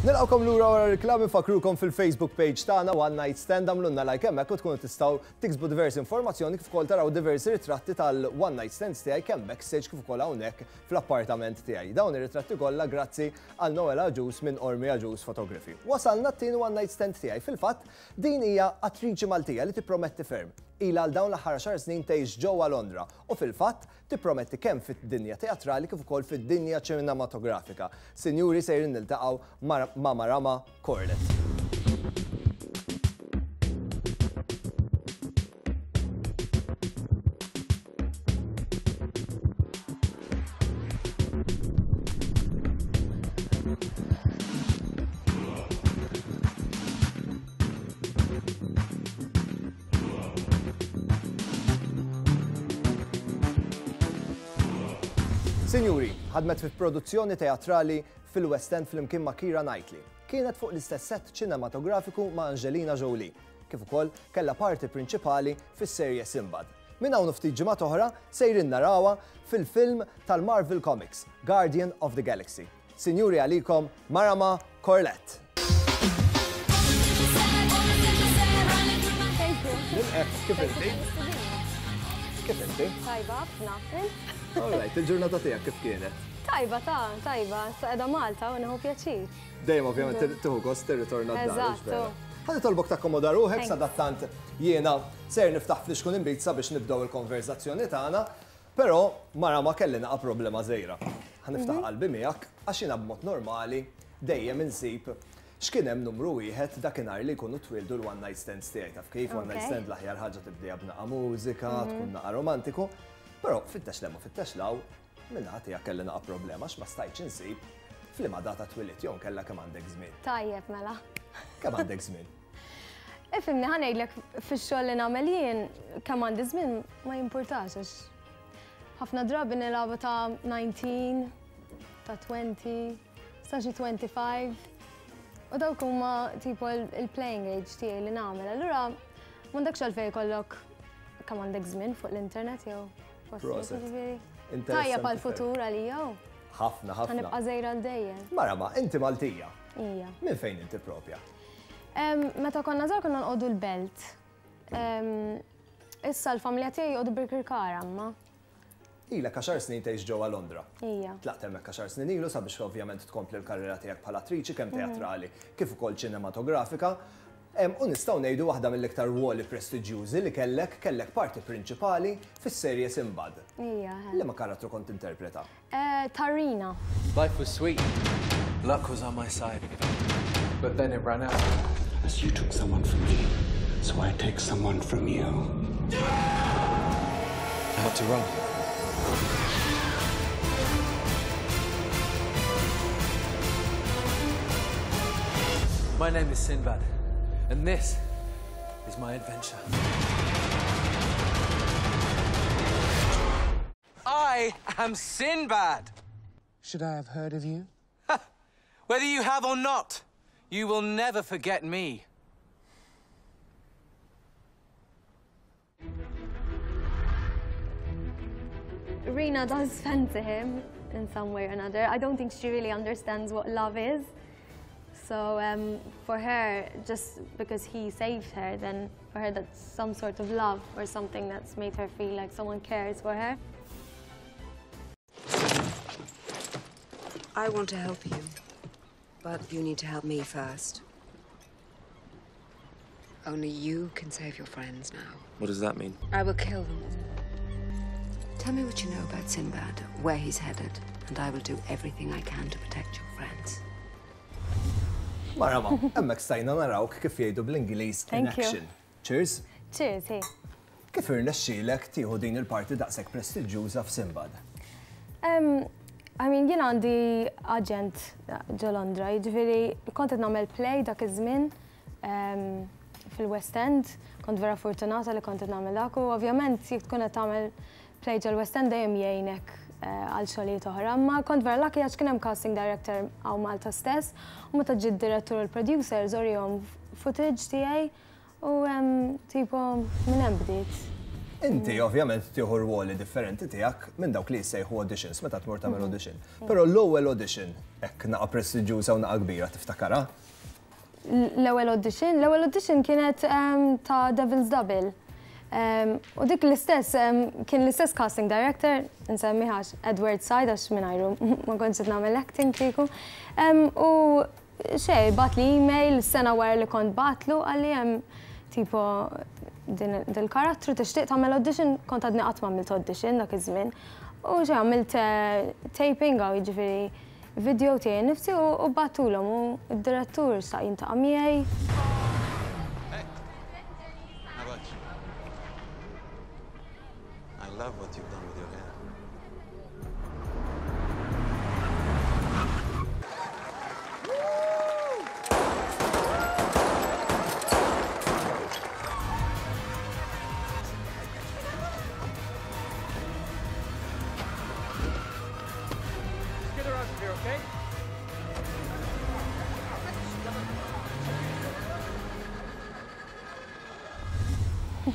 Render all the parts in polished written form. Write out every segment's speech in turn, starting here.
Nilqgħukom lura wara reklam infakkrukom fil-Facebook page tagħna One Night Stand għamlulna like hemmhekk u tkunu tistgħu tiksbu diversi informazzjoni kif ukoll taraw diversi ritratti tal-One Night Stands tiegħi kemm backstage kif ukoll hawnhekk fl-appartament tiegħi. Dawn ir-ritratti kollha grazzi għal Noel Agius minn Ormi Agius Photography. Wasalna t-tieni One Night Stand tiegħi. Fil-fatt, din hija attriċi Maltija li tipprometti ferm. Ilha għal dawn l-aħħar għaxar snin tgħix ġewwa Londra u fil-fatt tipprometti kemm fid-dinja teatrali kif ukoll fid-dinja ċinematografika. Sinjuri sejrin niltaqgħu ma' Marama Corlett. Sinjuri, ħadmet fi produzzjoni teatrali fil-West End flimkien ma' Keira Knightley. Kienet fuq l-istess set ċinematografiku ma' Angelina Jolie, kif ukoll kellha parti prinċipali fis-serje Sinbad. Minn hawn u ftit ġimgħat oħra sejrin narawha fil-film tal-Marvel Comics, Guardian of the Galaxy. Sinjuri għalikom Marama Corlett. Nilqek, kif inti? Kif inti? Tajba, ħafna. All right, il-ġurnata tiegħek kif kienet? Tajba ta' tajba, sa qiegħda Malta u nieħu pjaċir. Dejjem ovvjament tieħu gost tirritorna d-dar. Eżatt. Ħa nitolbok takkomoda ruħek sadattant jiena ser niftaħ flixkun inbid sabiex nibdew il-konverżazzjoni tagħna. Però Marama kelli naqa' problema żgħira. Ħa niftaħ qalbi miegħek għax jiena b'mod normali dejjem insib x'kien hemm numru wieħed dakinhar li jkunu twieldu l-one night stands tiegħi. Taf kif one night stand l-aħjar ħaġa tibdieha b'naqa' mużika, tkun naqa' romantiku. Però fittex 'l hemm u fittex 'l hawn, min-naħa tiegħek kelli naqa' problema għax ma stajtx insib f'liema data twilidt jew inkella kemm għandek żmien. Tajjeb mela. Kemm għandek żmien? Ifhimni, ħa ngħidlek fix-xogħol li nagħmel jien kemm għandi żmien ma jimpurtax għax ħafna drabi nilagħbu ta' 19, ta' 20, sa xi 25. U dawk huma tipo il-playing age tiegħi li nagħmel. Allura m'għandekx għalfejn jkollok kemm għandek żmien fuq l-internet jew postijiet jiġifieri. Tajjeb għall-futur għalija. Ħafna, ħafna. Ħa nibqa' żgħira għal dejjem. Marama, inti Maltija. Ija. Minn fejn inti propja? Meta konna żgħar konna nqogħdu l-belt. Issa l-familja tiegħi joqogħdu Birkirkara imma. Ilek għaxar snin tgħix ġewwa Londra. Ija. Tlaqt hemmhekk għaxar snin ilu sabiex ovvjament tkompli l-karriera tiegħek bħala attriċi kemm teatrali kif ukoll ċinematografika. U nistgħu ngħidu waħda mill-iktar rwoli prestiġjużi li kellek, kellek parti prinċipali fis-serje Sinbad. Ija. Liema karattru kont tinterpreta? Tarina. Life was sweet. Luck was on my side. But then it ran out. As you took someone from me, so I take someone from you. I had to run. My name is Sinbad, and this is my adventure. I am Sinbad! Should I have heard of you? Whether you have or not, you will never forget me. Rina does fancy him in some way or another. I don't think she really understands what love is. So um, for her, just because he saved her, then for her that's some sort of love or something that's made her feel like someone cares for her. I want to help you, but you need to help me first. Only you can save your friends now. What does that mean? I will kill them all. Tell me what you know about Sinbad, where he's headed, and I will do everything I can to protect your friends. Marama, hemmhekk stajna narawk kif jgħidu bl-Ingliż in action. Cheers. Cheers, hi. Kif irnexxielek tieħu din il-parti daqshekk prestiġjuża f'Sinbad? I mean, jien għandi aġent ġo Londra, jiġifieri kont qed nagħmel play dak iż-żmien fil-West End, kont vera fortunata li kont qed nagħmel dak u ovvjament jekk tkun qed tagħmel play ġol-West End dejjem jgħinek għal xogħlijiet oħra, imma kont vera lucky għax kien hemm casting director hawn Malta stess u meta ġie d-direttur u l-producers urihom footage tiegħi u tipo minn hemm bdiet. Inti ovvjament tieħu rwoli differenti tiegħek minn dawk li jissejħu auditions meta tmur tagħmel audition. Però l-ewwel audition hekk naqa' prestiġjuża u naqa' kbira tiftakarha? L-ewwel audition, l-ewwel audition kienet ta' Devil's Double. U dik l-istess, kien l-istess casting director, nsemmi għax Edward Said għax mingħajru ma kontx qed nagħmel acting kieku. U xejn, bagħatli email sena wara li kont bagħatlu qalli hemm tipo din il-karattru tixtieq tagħmel audition, kont għadni qatt ma għamilt audition dak iż-żmien. U xejn għamilt taping għaw jiġifieri video tiegħi nnifsi u bagħtulhom u d-direttur xtaq jiltaqa' miegħi. Hey, how about you? I love what you've done with your hair.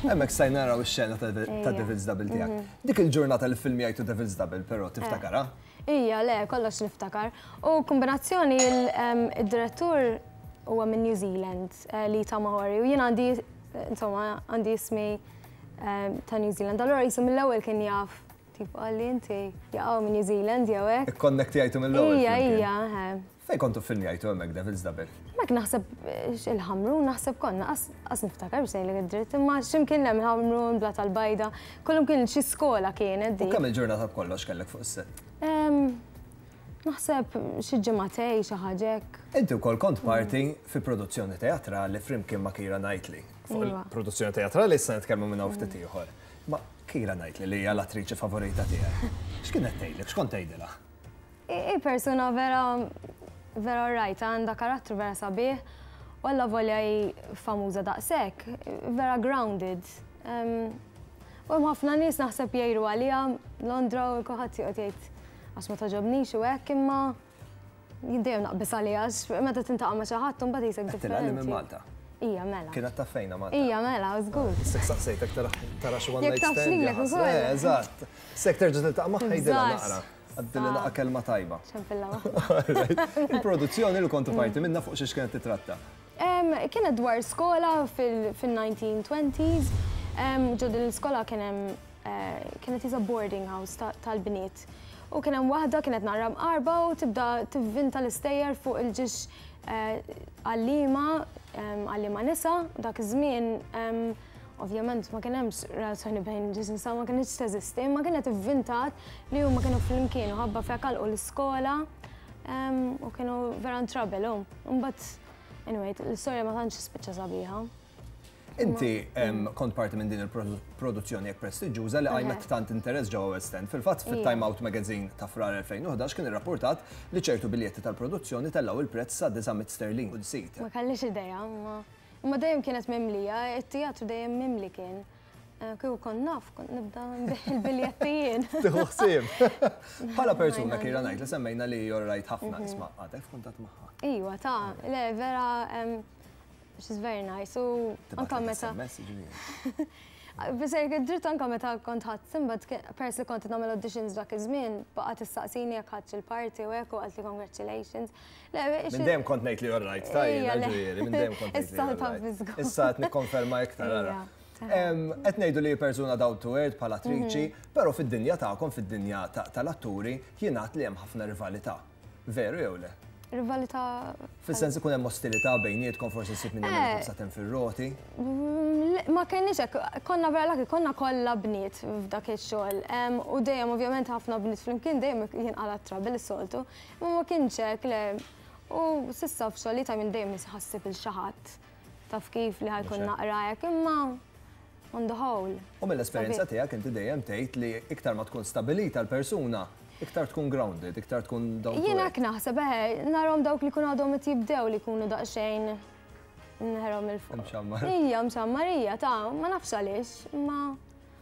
Hemmhekk stajna naraw ix-xena ta' Devil's Double tiegħek. Dik il-ġurnata li ffilmjajtu Devil's Double però tiftakarha? Ija, le, kollox niftakar. U kombinazzjoni id-direttur huwa minn New Zealand, Lee Tamahori, u jien għandi, insomma, għandi ismi ta' New Zealand. Allura qisu mill-ewwel kien jaf Tipo qalli inti jaqgħu minn New Zealand jew hekk. Ikkonnektjajtu mill-ewwel. Ija, ija, eħe. Fejn kontu ffilmjajtu hemmhekk Devil's Double? Hemmhekk naħseb il-Ħamrun, naħseb konna, qas niftakar biex ngħidlek id-dritt, imma x'imkien hemm il-Ħamrun, Blat tal-Bajda, kullum kien xi skola kienet dik. U kemm il-ġurnata b'kollox kellek fuq is-sett? Naħseb xi ġimagħtej, xi ħaġa hekk. Inti wkoll kont parti fi produzzjoni teatrali flimkien ma' Keira Knightley. Fuq il-produzzjoni teatrali issa nitkellmu minn hawn ftit ieħor. Ma Keira Knightley li hija l-attriċi favorita tiegħek, x'kienet tgħidlek, x'kont tgħidilha? Hi persuna vera vera alright, għandha karattru vera sabiħ u allavolja hi famuża daqshekk, vera grounded. U hemm ħafna nies naħseb jgħiru għaliha Londra u kulħadd joqgħod jgħid għax ma togħġobnix u hekk imma Jien dejjem naqbeż għaliha għax meta tintaqa' ma' xi ħadd imbagħad qisek differenti. Qedtilha li minn Malta. Ija, mela. Kienet taf fejna Malta. Ija, mela, żgur. Issek saqsejtek tara xi one night stand. Jekk taf lilek ukoll. Eh, eżatt. Sek terġa' tiltaqa' magħha jidilha naqra. Għaddilha naqra kelma tajba. Ċempilla waħda. Il-produzzjoni li kontu parti minnha fuq xiex kienet titratta? Kienet dwar skola fil-1920s. Ġo din l-iskola kien hemm kienet qisha boarding house tal-bniet. U kien hemm waħda kienet naqra mqarba u tibda tivvinta l-istejjer fuq il-ġiex għalliema, għalliema nisa, dak iż-żmien ovvjament ma kien hemmx relazzjoni bejn ġiex nisa ma kinitx teżisti, imma kienet ivvintat li huma kienu flimkien u ħabba f'hekk għalqu l-iskola u kienu vera in trouble u mbagħad anyway l-istorja ma tantx spiċċa sabiħa. Inti kont parti minn din il-produzzjoni hekk prestiġjuża li qajmet tant interess ġewwa West End. Fil-fatt, fit-Time Out Magazine ta' Frar 2011 kien irrappurtat li ċertu biljetti tal-produzzjoni tellgħu il-prezz sa 900 sterlin kull seat. Ma kellix idea, imma imma dejjem kienet mimlija, it-teatru dejjem mimli kien. Kieku kont naf, kont nibda nbigħ il-biljetti jien. Tieħu ħsieb. Bħala persuna Keira Knightley semmejna li hi all right ħafna, isma' għadek f'kuntatt magħha? Iva, ta' le vera She's very nice u anka meta. Bisejk id-dritt anka meta kont ħadd Sinbad peress li kont nagħmel auditions dak iż-żmien baqgħet tistaqsini jekk ħadx il-parti u hekk u qaltli congratulations. Minn dejjem kont ngħid li all right, ta' jiena ġifieri, minn dejjem kont ngħid li all right. Issa qed nikkonferma iktar ara. Qed ngħidu li hi persuna down to earth bħala attriċi, però fid-dinja tagħkom, fid-dinja tal-atturi, jingħad li hemm ħafna rivalità. Veru jew le? Rivalità. Fis-sens ikun hemm ostilità bejnietkom, forsi ssib min jagħmel il-ħobż saten fir-roti. Ma kenniex hekk, konna vera lucky, konna kollha bniet f'dak ix-xogħol. U dejjem ovvjament ħafna bniet flimkien dejjem jinqala' t-trouble is-soltu. Imma ma kienx hekk, le. U s'issa f'xogħlijiet I mean dejjem ħassib il xi ħadd. Taf kif li ħa jkun naqra hekk, imma on the whole. U mill-esperjenza tiegħek inti dejjem tgħid li iktar ma tkun stabilita l-persuna, iktar tkun grounded, iktar tkun down to earth. Jien hekk naħseb, eħe, narahom dawk li jkunu għadhom qed jibdew li jkunu daqsxejn nħerhom 'il fuq. Imxammar. Ija, mxammar, ija, ta' ma nafx għaliex, imma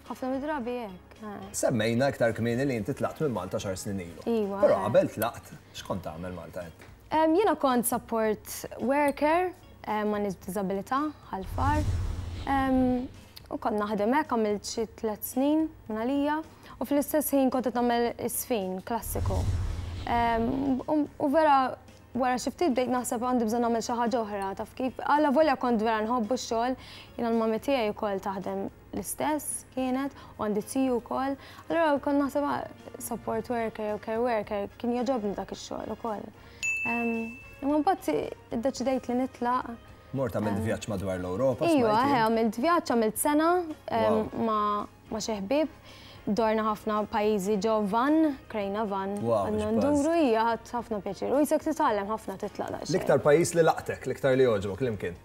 ħafna mid-drabi hekk. Semmejna iktar kmieni li inti tlaqt minn Malta xar snin ilu. Iva. Però qabel tlaqt, x'kont tagħmel Malta int? Jiena kont support worker ma' nies b'diżabilità, Ħal Far. U kont naħdem hekk għamilt xi tlett snin minn għalija u fl-istess ħin kont qed nagħmel iż-żfin klassiku. U vera wara xi ftit bdejt naħseb għandi bżonn nagħmel xi ħaġa oħra, taf kif? Allavolja kont vera nħobbu x-xogħol, jiena l-mummy tiegħi wkoll taħdem l-istess kienet u għandi ziju wkoll. Allura kont naħseb ah, support worker jew care worker kien jogħġobni dak ix-xogħol ukoll. Imma mbagħad iddeċidejt li nitlaq. Mort għamilt vjaġġ madwar l-Ewropa. Iva, eħe, għamilt vjaġġ, għamilt sena ma' xi ħbieb. Dorna ħafna pajjiżi ġo van, krejna van. Għadna nduru hija ħadd ħafna pjaċir. U jisek titgħallem ħafna titlaq daqsxejn. L-iktar pajjiż li laqtek, l-iktar li jogħġbok, l-imkien?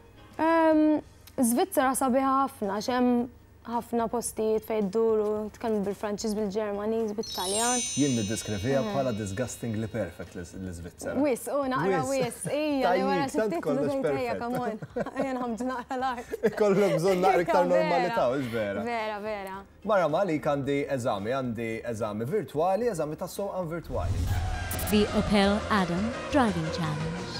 Żvizzera sabiħa ħafna, għax hemm ħafna postijiet fejn iddur u jitkellmu bil-Franċiż, bil-Ġermaniż, bit-Taljan. Jien niddeskriviha bħala disgustingly perfect l-Iżvizzera. Wisq, u naqra wisq, ija, li wara xi ftit ngħid ejja come on, ejja nħammġu naqra l-art. Ikollok bżonn naqra iktar normalità, hux vera? Vera, vera. Mara ma għalik għandi eżami, għandi eżami virtwali, eżami tas-sewqan virtwali. The Opel Adam Driving Challenge.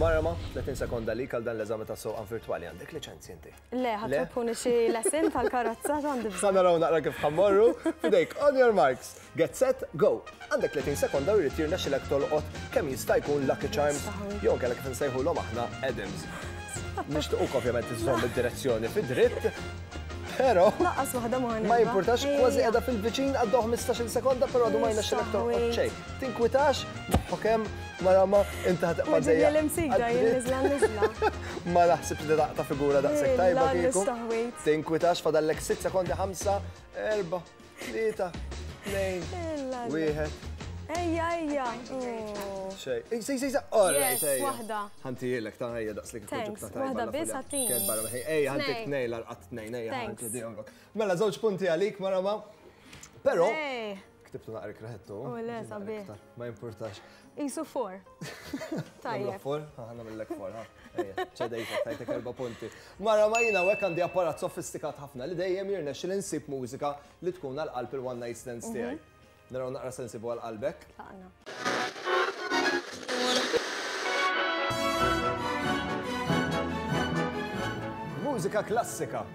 Mara ma, 30 sekonda għalik għal dan l-eżami tas-sewqan virtwali. Għandek liċenzji inti? Le, ħa tpuni xi lesson tal-karozza x'għandi bżonn. Ħa naraw naqra kif ħa mmorru. F'idejk, on your marks, get set, go. Għandek 30 sekonda u jrid jirnexxilek tolqot kemm jista' jkun Lucky Charms jew inkella kif insejħulhom aħna Adams. Nixtiequk ovvjament iżżomm id-direzzjoni fid-dritt. Però Lanqas waħda ma Ma jimpurtax, kważi qiegħda fil-viċin għaddew 15-il sekonda, però għadu ma jirnexxilek tolqot xejn. Tinkwitax, moħħok hemm, Marama, inti ħa tibqa' dejja. L-imsida jien niżla niżla. Ma naħsibx li daqta figura daqshekk tajba kieku. Tinkwitax fadallek 6 sekondi 5, 4, 3, 2, 1. Ejja, ejja. Xej. Ej, sej, sej, sej. All right, ejja. Waħda. Ħantijilek ta' ejja daqs li kieku ġibta tajba. Waħda biss ħattini. Kien barra ej, ħantik tnej l-arqat tnejn, ejja, ħantik Mela, żewġ punti għalik, Marama. Però, Ktibtu naqra ikraħettu. U le, sabiħ. Ma jimpurtax. Isu for. Tajjeb. For? Ħana mill-lek for, ha. Ċedejtek, tajtek erba punti. Mara ma jina għek għandi apparat sofistikat ħafna li dejjem jirnexxi li nsib mużika li tkun għal qalb il-one night stands mhm. tiegħi. Naraw naqra se nsibu għal qalbek. Mużika klassika.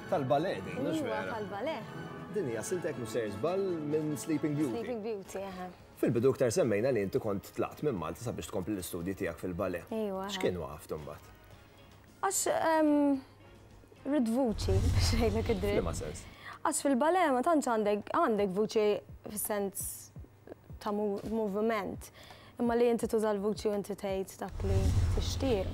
Tal-ballet din, mhux vera? Tal-ballet. Din hija silta jekk mhux sejjer żball minn Sleeping Beauty. Sleeping Beauty, eħe. Fil-bidu iktar semmejna li inti kont tlaqt minn Malta sabiex tkompli l-istudji tiegħek fil-ballet. Iva. X'kien waqaft imbagħad? Għax ridt vuċi biex ngħidlek id-dritt. F'liema sens? Għax fil-ballet ma tantx għandek għandek vuċi fis-sens ta' moviment. Imma li inti tuża l-vuċi u inti tgħid dak li tixtieq.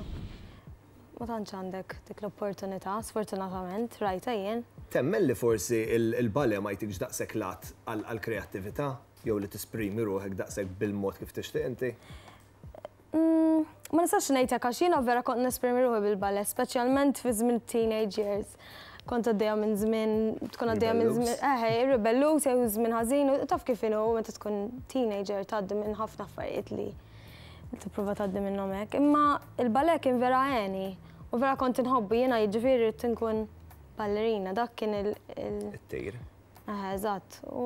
Ma tantx għandek dik l-opportunità, sfortunatament, rajtha jien. Temmen li forsi l-ballet ma jtikx daqshekk lat għall-kreattività jew li tisprimi ruħek daqshekk bil-mod kif tixtieq inti? Ma nistax ngħid hekk għax jiena vera kont nesprimi ruħi bil-ballet, speċjalment fi żmien teenage years. Kont għaddejja minn żmien, tkun għaddejja minn żmien, eħe, ribelluż jew żmien ħażin, u taf kif inhu meta tkun teenager tgħaddi minn ħafna affarijiet li tipprova tgħaddi minnhom hekk. Imma il-ballet kien vera għeni u vera kont inħobbu jiena jiġifieri ridt inkun ballerina, dak kien il- It-tir. Eħe, eżatt. U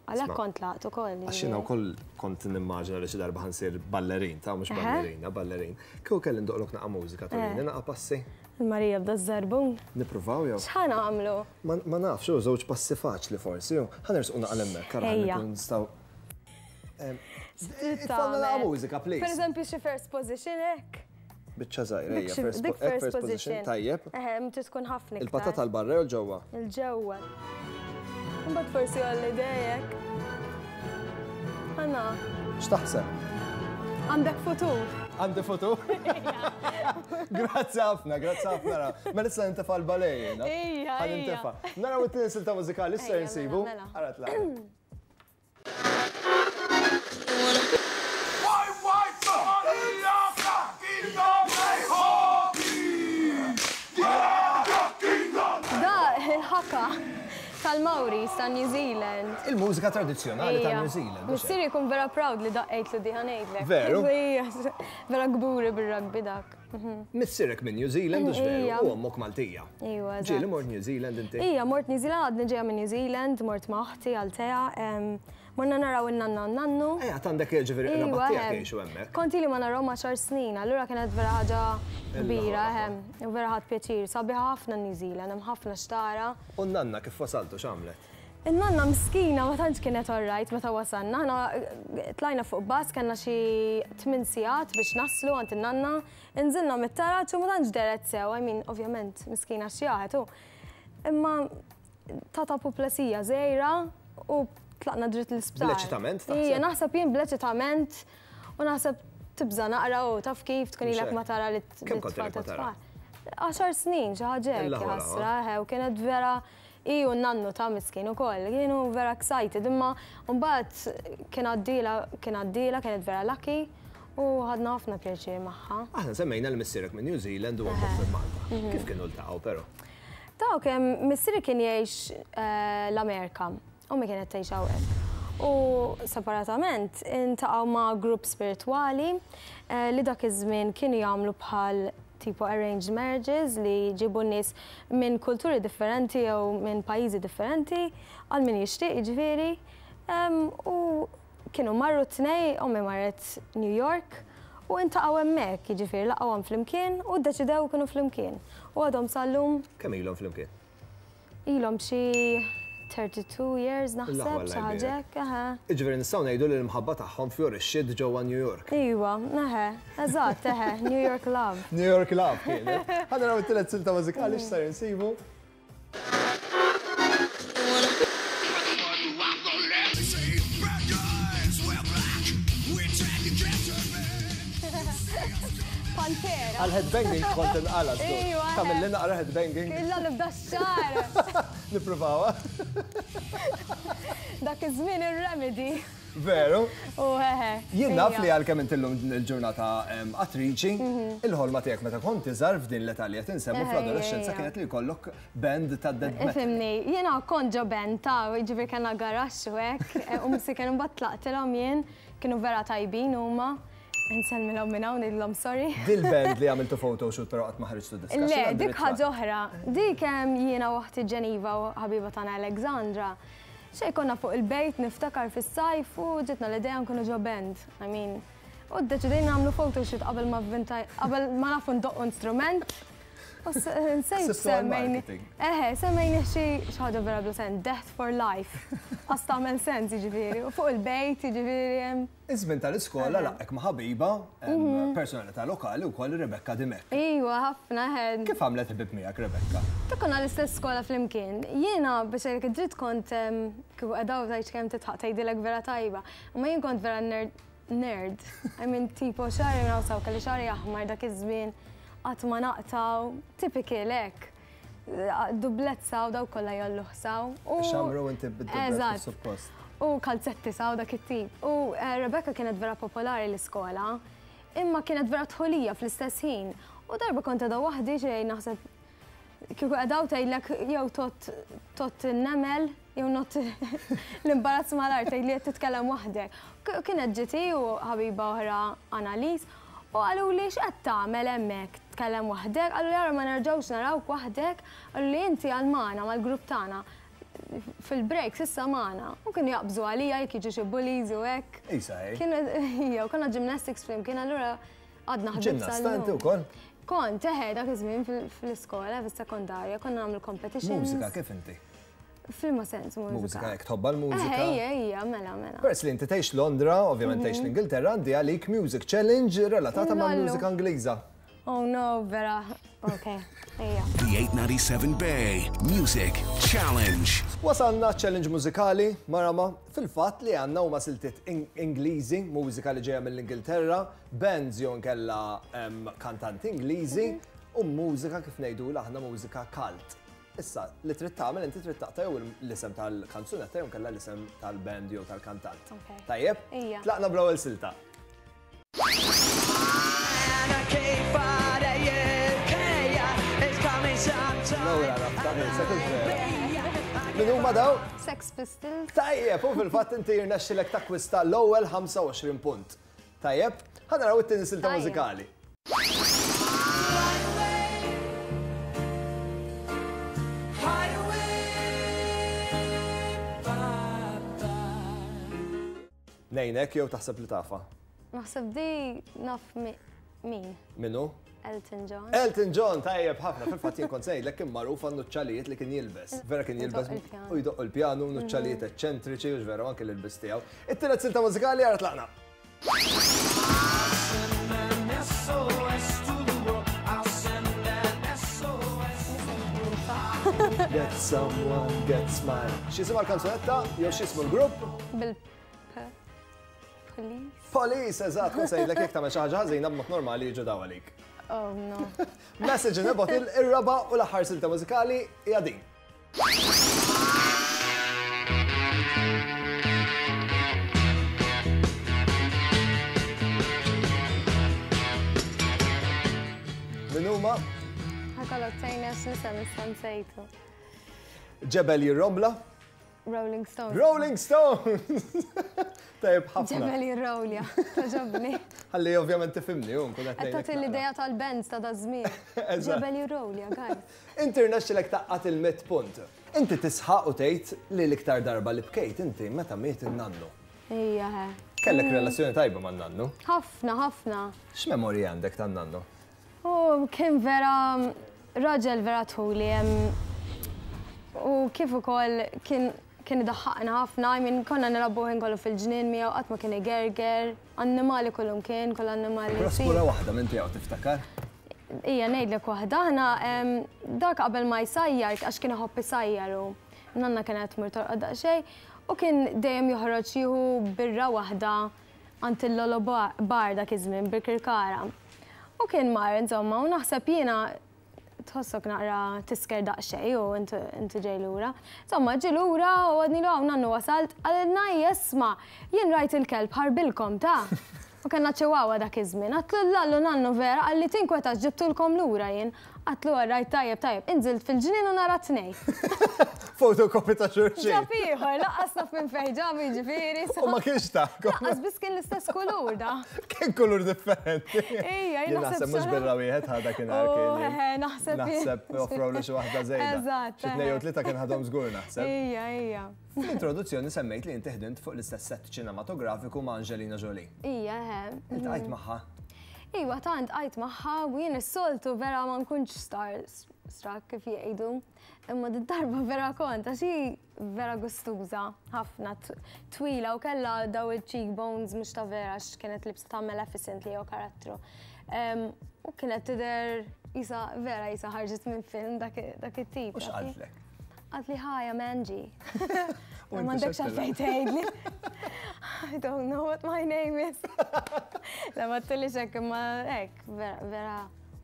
għalhekk kont tlaqt ukoll. Għax jiena wkoll kont nimmaġina li xi darba ħa nsir ballerin, ta' mhux ballerina, ballerin. Kieku kelli ndoqqlok naqa' mużika turini naqa' passi? Il-Marija b'da ż-żarbun. Nippruvaw jew? X'ħa nagħmlu? Ma nafx, hu żewġ passi faċli forsi, hu. Ħa nersqu naqa' 'l hemmhekk, ara ħalli nkunu nistgħu. Itfgħalna naqa' mużika, please. Per eżempju xi first position hekk. Biċċa żgħira, ejja, first position, tajjeb. Eħe, trid tkun ħafna iktar. Il-patata 'l barra jew 'l ġewwa? 'Il ġewwa. Imbagħad forsi għolli idejek. Ħana. X'taħseb? Għandek futur. Għandi futur? Grazzi ħafna, grazzi ħafna. Mela issa nintefa' l-ballet jiena. Ejja, Ħa nintefa'. Naraw it-tieni silta mużikali issa insibu. Mela, mela. Ara tlaqna. Da il-ħaka tal-Maoris ta' New Zealand. Il-mużika tradizzjonali ta' New Zealand. Missieri jkun vera proud li daqqejtlu di ħa ngħidlek. Veru? Vera kburi bir-rugby dak. Missierek minn New Zealand, hux veru? U ommok Maltija. Iwa, eżatt. Ġieli mort New Zealand inti? Ija, mort New Zealand, għadni ġejja minn New Zealand, mort ma' oħti Altea. Morna naraw in-nanna u n-nannu. Ejja, għandek ġifieri qraba tiegħek jgħixu hemmhekk. Kont ili ma narahom għaxar snin, allura kienet vera ħaġa kbira, eħe, u vera ħadt pjaċir. Sabiħa ħafna New Zealand, hemm ħafna x'tara. U n-nanna kif wasaltu x'għamlet? In-nanna miskina ma tantx kienet alright meta wasalna. Aħna tlajna fuq bus, kellna xi tmien sigħat biex naslu għand in-nanna. Inżilna mit-taraġ u ma tantx dehret sew, I mean, ovvjament, miskina xjaħet u. Imma tata puplesija żgħira u tlaqna dritt l-isptar. Bl-eċitament taħseb? Ija, naħseb jien bl-eċitament u naħseb tibża' naqra u taf kif tkun ilek ma tara li tfal ta' tfal. Għaxar snin xi ħaġa hekk ħasra, u kienet vera hi u n-nannu ta' miskin ukoll, kienu vera excited imma mbagħad kien għaddielha kien għaddielha kienet vera lucky u ħadna ħafna pjaċir magħha. Aħna semmejna li missierek minn New Zealand u ommok minn Malta. Kif kienu ltaqgħu però? Dawk, missieri kien jgħix l-Amerika, ommi kienet tgħix hawnhekk. U separatament intaqgħu ma' grupp spiritwali li dak iż-żmien kienu jagħmlu bħal tipo arranged marriages li jġibu nies minn kulturi differenti jew minn pajjiżi differenti għal min jixtieq jiġifieri. U Kienu marru t-tnej, ommi marret New York u intaqgħu hemmhekk, jiġifieri laqgħuhom flimkien u ddeċidew ikunu flimkien. U għadhom sal-lum. Kemm ilhom flimkien? Ilhom xi 32 years naħseb, xi ħaġa hekk, eħe. Jiġifieri nistgħu ngħidu li l-imħabba tagħhom fjorixxiet ġewwa New York. Iva, eħe, eżatt, eħe, New York love. New York love kienet. Ħa naraw it-tielet silta mużikali x'sar insibu. Pantera. Għal headbanging kont inqala. Iwa. Tagħmel li naqra headbanging. Illa nibda x-xar. Nippruvawha. Dak iż-żmien ir-remedy. Veru? U eħe. Jien naf li għalkemm inti llum il-ġurnata attriċi, il-ħolma tiegħek meta kont iżgħar f'din l-età li qed insemmu fl-adolescenza kienet li jkollok band ta' death metal. Ifhimni, jiena kont ġo band ta' jiġifieri kellna garaxx u hekk, u msiken imbagħad tlaqtilhom jien, kienu vera tajbin huma. Insellmilhom minn hawn ngħidilhom sorry. Dil-band li għamiltu photoshoot però qatt ma ħriġtu diska. Le, dik ħaġa oħra. Dik jiena u oħti Geneva u ħabiba tagħna Alexandra. Xejn konna fuq il-bejt niftakar fis-sajf u ġietna l-idea nkunu ġo band. I mean, u ddeċidejna nagħmlu photoshoot qabel ma vvintaj, qabel ma nafu ndoqqu instrument. U nsejt semmejni. Eħe, semmejnih xi ħaġa vera bla sens, Death for Life. Qas tagħmel sens jiġifieri. U fuq il-bejt jiġifieri hemm. Iż-żmien tal-iskola laqgħek ma' ħabiba, personalità lokali wkoll Rebecca Dimech. Iwa, ħafna, eħe. Kif għamlet ħbieb miegħek Rebecca? Ta' konna l-istess skola flimkien. Jiena biex ngħidlek id-dritt kont kieku qiegħda hawn tgħidx kemm tidħaq tgħidilek vera tajba. Imma jien kont vera nerd nerd. I mean tipo xagħri minn hawn s'hawn kelli xagħri aħmar dak iż-żmien qatt ma naqtgħu, typical hekk. Dublett saw dawk kollha jgħolluh saw. Xamru inti bid-dublett suppost. U kalzetti saw dak it-tip. U Rebecca kienet vera popolari l-iskola, imma kienet vera dħulija fl-istess ħin. U darba kont qiegħda waħdi xejn naħseb kieku qiegħda hawn tgħidlek jew tgħodd tgħodd in-nemel jew ngħodd l-imbarazz mal-art tgħidli qed titkellem waħdek. Kienet ġiet hi u ħabiba oħra Annalise u qaluli x'qed tagħmel hemmhekk tkellem waħdek, qaluli ara ma nerġgħux narawk waħdek, qaluli inti għal magħna mal-grupp tagħna. Fil-breaks issa magħna. U kienu jaqbżu għalija jekk jiġu xi bullies u hekk. Isa hi. Kienu ija, u konna gymnastics flimkien allura għadna ħbieb Ġinnasta inti wkoll? Kont, eħe, dak iż-żmien fl-iskola, fis-sekondarja, konna nagħmlu competitions. Mużika kif inti? F'liema sens mużika? Mużika, jekk tħobbha l-mużika. Eħe, ija, ija, mela, mela. Peress li inti tgħix Londra, ovvjament tgħix l-Ingilterra, għandi għalik music challenge relatata mal-mużika Ingliża. Oh no, vera, ok, ejja. The 897 Bay Music Challenge. Wasalna challenge mużikali, Marama, fil-fatt li għandna huma siltiet Ingliżi, mużika li ġejja mill-Ingilterra, bands jew inkella kantanti Ingliżi u mużika kif ngħidulha aħna mużika cult. Issa, li trid tagħmel inti trid taqta' jew l-isem tal-kanzunetta jew inkella l-isem tal-band jew tal-kantant. Tajjeb? Tlaqna bl-ewwel silta. Min huma daw? Sex Pistols. Tajjeb, u fil-fatt inti jirnexxilek takkwista l-ewwel 25 punt. Tajjeb, ħa naraw it-tieni silta mużikali. Ngħinek jew taħseb li tafha? Naħseb di naf min. Min hu? Elton John. Elton John, tajjeb ħafna. Fil-fatt jien kont ngħidlek kien magħruf għan-nuċċalijiet li kien jilbes. Vera kien jilbes u jdoqq il-pjanu, nuċċalijiet eċċentriċi u vera anke l-ilbis tiegħu. It-tielet silta mużikali ara tlaqna. Get someone, get smile. X'jisimha l-kanzunetta jew x'jismu l-grupp? Bil Police. Police, eżatt, kont sejlek jekk tagħmel xi ħaġa ħażina b'mod normali jiġu daw għalik. Oh no. Message in a bottle, ir-raba' u l-aħħar silta mużikali hija din. Min huma? Ħakollok tgħinna x'nisem issa nsejtu. Ġebel jirrombla? Rolling Stones. Rolling Stones! Tajjeb ħafna. Ġebel jirrowlja, togħġobni. Ħalli ovvjament tifhimni u nkun qed Qed tagħti l-idea tal-bands ta' daż-żmien. Ġebel jirrowlja, guys. Inti rnexxilek tgħaqqad il-mitt punt. Inti tisħaq u tgħid li l-iktar darba li bkejt inti meta miet in-nannu. Ejja, he. Kellek relazzjoni tajba man-nannu? Ħafna, ħafna. X'memorji għandek tan-nannu? U kien vera raġel vera tħuli u kif ukoll kien kien idaħħaqna ħafna, I mean konna nilagħbu ħin kollu fil-ġnien miegħu qatt ma kien igerger, annimali kullum kien, kull annimali. Praspura waħda minn tiegħu tiftakar? Ija ngħidlek waħda, aħna dak qabel ma jsajjar għax kien iħobb isajjar u nanna kienet tmur torqod daqsxejn u kien dejjem joħroġ jieħu birra waħda għand il-Lolo Bar dak iż-żmien Birkirkara. U kien mar insomma u naħseb jiena tħossok naqra tisker daqsxejn u inti ġej lura. Insomma ġie lura u għadnilu hawn nannu wasalt, qalilna ejja isma' jien rajt il-kelb ħarbilkom ta! U kellna chihuahua dak iż-żmien. Għadtlu l-Lallu nannu vera qalli tinkwetax ġibtulkom lura jien. Għadtlu all right tajjeb tajjeb. Inżilt fil-ġnien u nara t-tnejn. Photocopy ta' xulxin. Ġab ieħor, lanqas naf minn fejn ġabu jiġifieri. U ma kienx tagħkom. Lanqas biss kien l-istess kulur da. Kien kulur differenti. Ejja, jien naħseb mhux birra wieħed ħa dakinhar kien. Oh, eħe, naħseb. Naħseb offrawlu xi waħda żejda. Eżatt. Xi tnejn jew tlieta kien ħadhom żgur naħseb. Ejja, ejja. Fl-introduzzjoni semmejt li inti ħdimt fuq l-istess sett ċinematografiku ma' Angelina Jolie. Ija, eħe. Iltqajt magħha? Iwa, tant qajt magħha u jien is-soltu vera ma nkunx star struck kif jgħidu. Imma did-darba vera kont għax hi vera gustuża ħafna, twila u kellha daw il-cheekbones mhux ta' vera għax kienet libsa ta' Maleficent li jew karattru. U kienet tidher qisha vera qisha ħarġet minn film dak it-tip. U x'qaltlek? Qaltli hi, I'm Angie. U m'għandekx għalfejn tgħidli. I don't know what my name is. La ma tillix hekk imma hekk, vera, vera.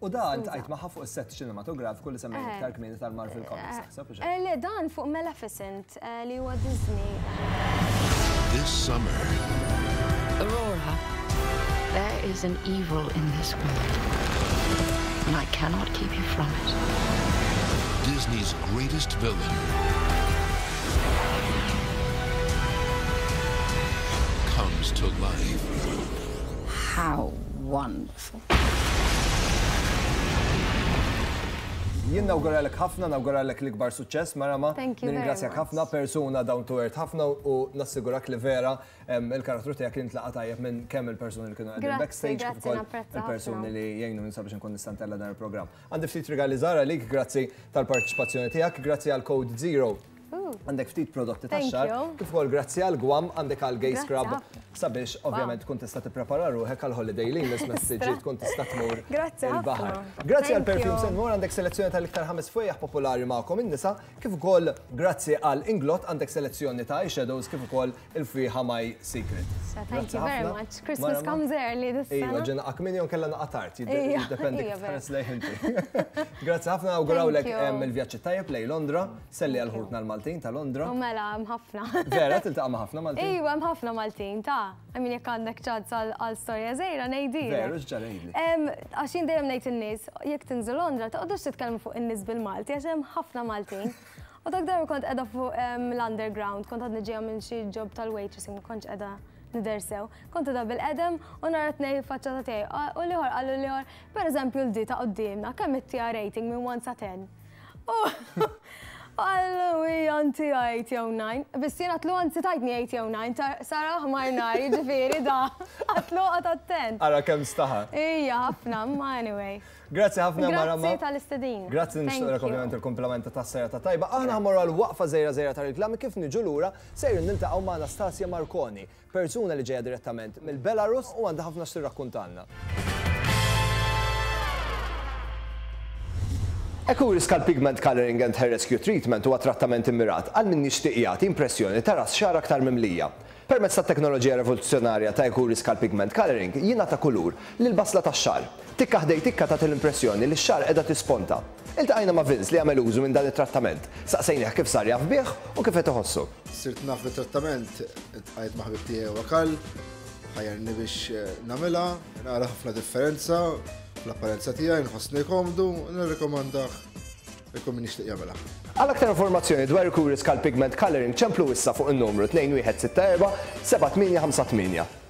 U da ltqajt magħha fuq is-sett ċinematografiku li semmejna iktar kmieni tal-Marvel Comics, naħseb, u x'hekk? Le, dan fuq Maleficent li huwa Disney. This summer. Aurora, there is an evil in this world, and I cannot keep you from it. Disney's greatest villain comes to life. How wonderful. Jien nawguralek ħafna, nawguralek l-ikbar suċċess, Marama. Thank you very much. Nirringrazzjak ħafna, persuna down to earth ħafna u nassigurak li vera il-karattru tiegħek kien intlaqa' tajjeb minn kemm il-persuni li kienu qegħdin backstage kif ukoll il-persuni li jgħinuni sabiex inkun nista' ntella' dan il-programm. Għandi ftit rigali żgħar għalik, grazzi tal-parteċipazzjoni tiegħek, grazzi għal Code Zero. Għandek ftit prodotti tax-xagħar, kif ukoll grazzi għal Guam għandek għal Gay Scrub sabiex ovvjament tkun tista' tipprepara ruħek għal holiday li jmiss meta tiġi tkun tista' tmur il-baħar. Grazzi għal Perfumes and More għandek selezzjoni tal-iktar ħames fwejjaħ popolari magħkom in-nisa, kif ukoll grazzi għal Inglot għandek selezzjoni ta' eyeshadows kif ukoll il-fwieħa My Secret. Thank you very much. Christmas comes early this sena. Iva, ġena akmin jew kella naqa' tard, jiddependi kif tħares lejh inti. Grazzi ħafna, nawgurawlek il-vjaġġ it-tajjeb lejn Londra, selli għal ħutna l-Maltin ta' Londra. U mela, hemm ħafna. Vera, tiltaqa' ma' ħafna Maltin? Iva, hemm ħafna Maltin, ta'. I mean, jekk għandek ċans għal storja żgħira ngħidilek. Veru, x'ġara għidli? Għax jien dejjem ngħid in-nies, jekk tinżlu Londra, toqgħodux titkellmu fuq in-nies bil-Malti għax hemm ħafna Maltin. U dak darba kont qiegħda fuq l-underground, kont għadni ġejja minn xi job tal-waitressing, ma kontx qiegħda nidher sew. Kont qiegħda bil-qedem u nara tnej faċċata tiegħi. U l-ieħor qallu l-ieħor, pereżempju l-di ta' quddiemna, kemm ittiha rating minn 1 sa 10? U U qallu hija inti 8 jew 9. Biss jien għatlu anzi tajtni 8 jew 9, sar aħmar nar, jiġifieri da. Għatlu oqgħod attent. Ara kemm staħa. Ija ħafna, imma anyway. Grazzi ħafna Marama. Grazzi tal-istedina. Grazzi nixtieqlek ovvjament il-kumplament ta' serata tajba. Aħna ħa mmorru għal waqfa żgħira żgħira ta' riklami kif niġu lura sejrin niltaqgħu ma' Anastasia Marconi, persuna li ġejja direttament mill-Belarus u għandha ħafna x'tirrakkuntalna. Ecuri Scalp Pigment Coloring and Hair Rescue Treatment huwa trattament immirat għal min jixtieq jagħti impressjoni ta' ras xagħar aktar mimlija. Permezz tat-teknoloġija revoluzzjonarja ta' Ecuri Scalp Pigment Coloring jingħata kulur lill-basla tax-xagħar. Tikka ħdej tikka tagħti l-impressjoni li x-xagħar qiegħda tisponta. Iltqajna ma' Vince li għamel użu minn dan it-trattament. Saqsejnih kif sar jaf bih u kif qed iħossu. Sirt naf bit-trattament, iltqajt ma' ħabib tiegħi huwa Karl, ħajjarni biex nagħmilha, nara ħafna differenza fl-apparenza tiegħi, nħossni komdu, nirrikomandah lil kull min jixtieq jagħmilha. Għal aktar informazzjoni dwar il-Kuri Scalp Pigment Coloring ċemplu issa fuq in-numru 2164 7858.